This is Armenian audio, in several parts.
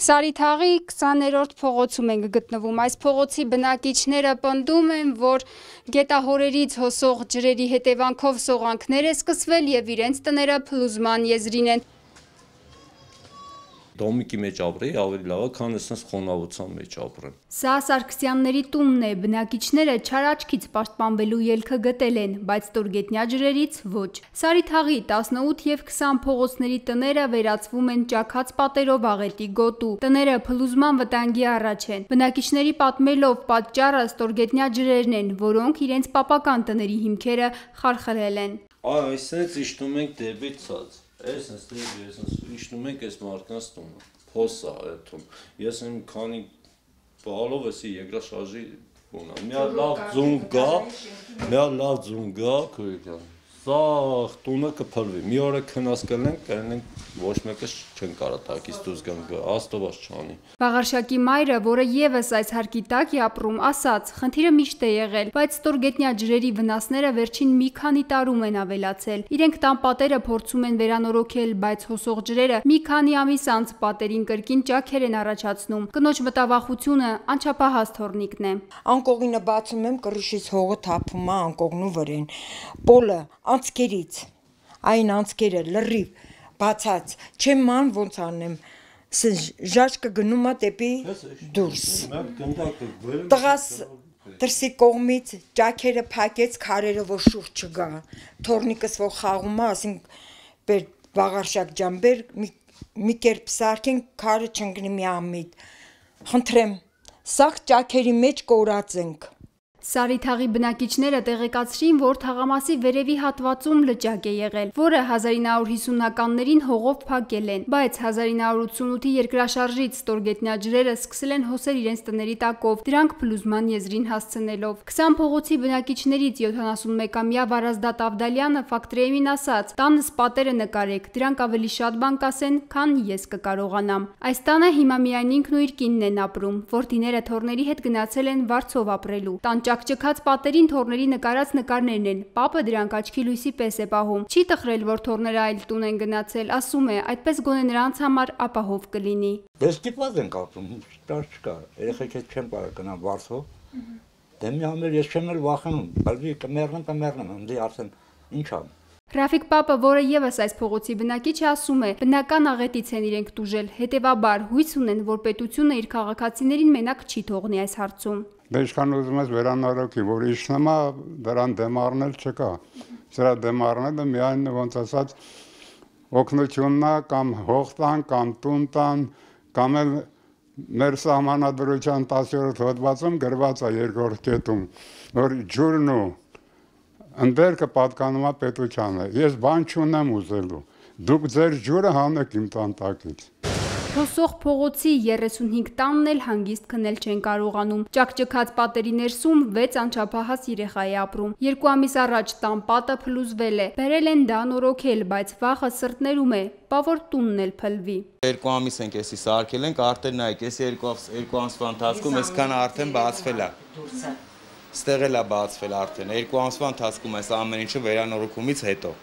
Սարիթաղի 20-րդ փողոցում ենք գտնվում։ Այս փողոցի բնակիչները պնդում են, որ գետահորերից հոսող ջրերի հետևանքով սողանքներ է սկսվել եւ իրենց տները փլուզման եզրին են։ Դոմիկի մեջ ապրեի ավելի լավ է, քան այսպես խոնավության մեջ ապրեմ։ Սա Սարգսյանների տունն է, բնակիչները չար աչքից պաշտպանվելու ելքը գտել են, բայց ստորգետնյա ջրերից ոչ։ Սարիթաղի 18 եւ 20 փողոցների տները վերածվում են ճաքած պատերով աղետի գոտու։ Տները փլուզման վտանգի առաջ են։ Բնակիչների պատմելով պատճառը ստորգետնյա ջրերն են, որոնք իրենց պապական տների հիմքերը խարխլել են։ Այսպես իջնում ենք դեպի ցած։ Ես իջնում ենք այս մարդկանց տունը, փոսա այդում, ես եմ քանի բալով էսի երկրաշարժի բունա, մի լավ ձուն գա, քույրիկյան, սա տունը կփլվի, մի օր է քնած կլենք, ոչ մեկը չեն կարա տակից դուրս գան, աստված չանի։ Վաղարշակի մայրը, որը եւս այս հարկի տակ է ապրում, ասաց, խնդիրը միշտ է եղել, բայց ստորգետնյա ջրերի վնասները վերջին մի քանի տարում են ավելացել։ Իրենք տան պատերը փորձում են վերանորոգել, բայց հոսող ջրերը մի քանի ամիս անց պատերին կրկին ճաքեր են առաջացնում։ Կնոջ մտավախությունը անչափահաս թորնիկն է։ Անկողինը բացում եմ, կրիշից հողը թափում է անկողնու վրեն։ Պոլը անցքերից, այն անցքերը լրիվ բացած, չեմ ման ոնց անեմ, ժաճկը գնում է դեպի դուրս։ Տղաս դրսի կողմից ճաքերը փակեց, քարերը որ շուրջ չգա։ Թորնիկս որ խաղում է, ասենք Վաղարշակ ջան, բեր մի կերպ սարքենք, քարը չընկնի մի ամիտ։ Խնդրեմ, սաղ ճաքերի մեջ կորած ենք։ Սարիթաղի բնակիչները տեղեկացրին, որ թաղամասի վերևի հատվածում լճակ է եղել, որը 1950-ականներին հողով փակել են, բայց 1988-ի երկրաշարժից ստորգետնյա ջրերը սկսել են հոսել իրենց տների տակով, դրանք փլուզման եզրին հասցնելով։ 20 փողոցի բնակիչներից 71-ամյա Վարազդատ Ավդալյանը Ֆակտրեյմին ասաց. «Տանս պատերը նկարեք, դրանք ավելի շատ բան կասեն, քան ես կկարողանամ»։ Այս տանը հիմա միայն ինքն ու իր կինն են ապրում, որդիները թոռների հետ գնացել են Վարձով ապրելու։ Ճաքճքած պատերին թոռների նկարած նկարներն են, պապը դրանք աչքի լույսի պես է պահում։ Չի տխրել, որ թոռները այլ տուն են գնացել, ասում է, այդպես գոնե նրանց համար ապահով կլինի։ Դեսկիպված ենք ապրում, դար չկա, երեխեք հետ չեմ կարող գնալ Վարշավ, դե մի համար ես չեմ էլ վախենում, բալվի կմեռնեմ, ընդի արդեն ինչ ամ։ Ռաֆիկ պապը, որը եւս այս փողոցի բնակիչ է, ասում է, բնական աղետից են իրենք տուժել, հետեւաբար հույս ունեն, որ պետությունը իր քաղաքացիներին մենակ չի թողնի այս հարցում։ Դե ինչքան ուզում ես վերանորոգի, որ իջնում է, դրան դեմ առնել չկա։ Սրա դեմ առնելը միայն ոնց ասած օգնությունն է, կամ հող տան, կամ տուն տան, կամ էլ մեր սահմանադրության 10-րդ հոդվածում գրված է երկրորդ կետում, որ ջուրն ու ընդերքը պատկանում է պետությանը։ Ես բան չունեմ ուզելու։ Դուք ձեր ջուրը հանեք իմ տան տակից։ Հոսող փողոցի 35 տանն էլ հանգիստ քնել չեն կարողանում։ Ճաքճքած պատերի ներսում 6 անչափահաս երեխա է ապրում։ 2 ամիս առաջ տան պատը փլուզվել է։ Բերել են դա նորոգել, բայց վախը սրտներում է, բա որ տունն էլ փլվի։ 2 ամիս ենք էսի սարքել ենք, արդեն նայեք, էսի 2 ամսվա ընթացքում այսքան արդեն բացվել է։ Ստեղ էլ է բացվել արդեն 2 ամսվա ընթացքում այս ամեն ինչը վերանորոգումից հետո։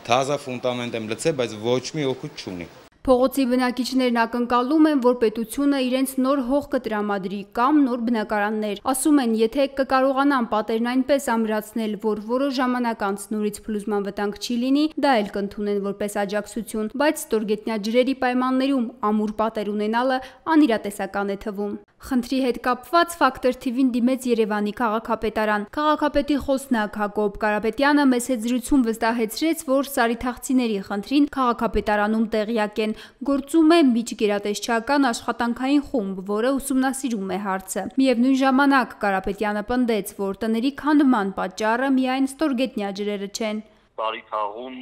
Թազա ֆունդամենտ եմ լցել, բայց ոչ մի օգուտ չունի։ Փողոցի բնակիչներն ակնկալում են, որ պետությունը իրենց նոր հող կտրամադրի կամ նոր բնակարաններ։ Ասում են, եթե կկարողանան պատերն այնպես ամրացնել, որ որոշ ժամանակ անց նորից փլուզման վտանգ չի լինի, դա էլ կընդունեն որպես աջակցություն, բայց ստորգետնյա ջրերի պայմաններում ամուր պատեր ունենալը անիրատեսական է թվում։ Խնդրի հետ կապված Ֆակտոր TV-ին դիմեց Երևանի քաղաքապետարան։ Քաղաքապետի խոսնակ Հակոբ Կարապետյանը մեծ զրույցում վստահեցրեց, որ սարիթաղցիների խնդրին քաղաքապետարանում տեղյակ են։ Գործում է միջգերատեսչական աշխատանքային խումբ, որը ուսումնասիրում է հարցը։ Միևնույն ժամանակ Կարապետյանը պնդեց, որ տների քանդման պատճառը միայն ստորգետնյա ջրերը չեն։ Սարիթաղում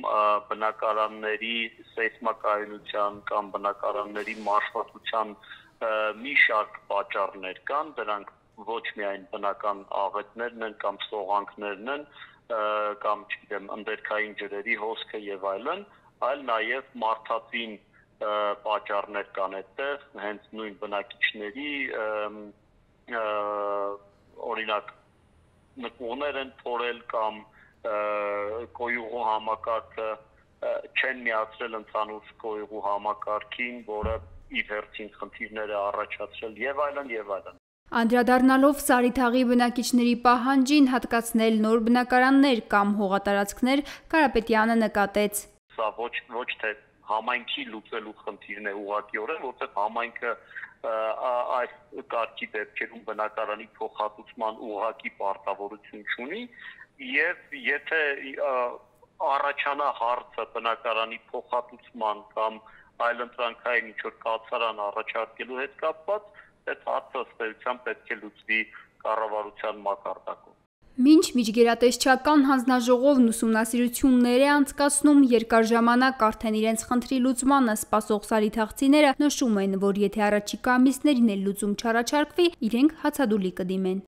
բնակարանների սեյսմակայունության կամ բնակարանների մաշվածության մի շարք պատճառներ կան, դրանք ոչ միայն բնական աղետներն են կամ սողանքներն են, կամ չգիտեմ, ընդերքային ջրերի հոսքը եւ այլն, այլ նաեւ մարդածին պատճառներ կան այդտեղ, հենց նույն բնակիչների օրինակ նկուղներ են փորել կամ կոյուղու համակարգը չեն միացրել ընդհանուր կոյուղու համակարգին, որը իր հերթին խնդիրներ է առաջացրել եւ այլն եւ այլն։ Անդրադառնալով Սարիթաղի բնակիչների պահանջին հատկացնել նոր բնակարաններ կամ հողատարածքներ, Կարապետյանը նկատեց. Սա ոչ թե համայնքի լուծելու խնդիրն է ուղղակիորեն, որտեղ համայնքը այս կարգի դեպքերում բնակարանի փոխհատուցման ուղղակի պարտավորություն չունի եւ եթե առաջանա հարցը բնակարանի փոխհատուցման կամ այլընտրանքային ինչ-որ կացարան առաջարկելու հետ կապված, այդ հարցը ըստ էության պետք է լուծվի կառավարության մակարդակով։ Մինչ միջգերատեսչական հանձնաժողովն ուսումնասիրություններ է անցկացնում, երկար ժամանակ արդեն իրենց խնդրի լուծմանը սպասող սարիթաղցիները նշում են, որ եթե առաջիկա ամիսներին էլ լուծում չառաջարկվի, իրենք հացադուլի կդիմեն։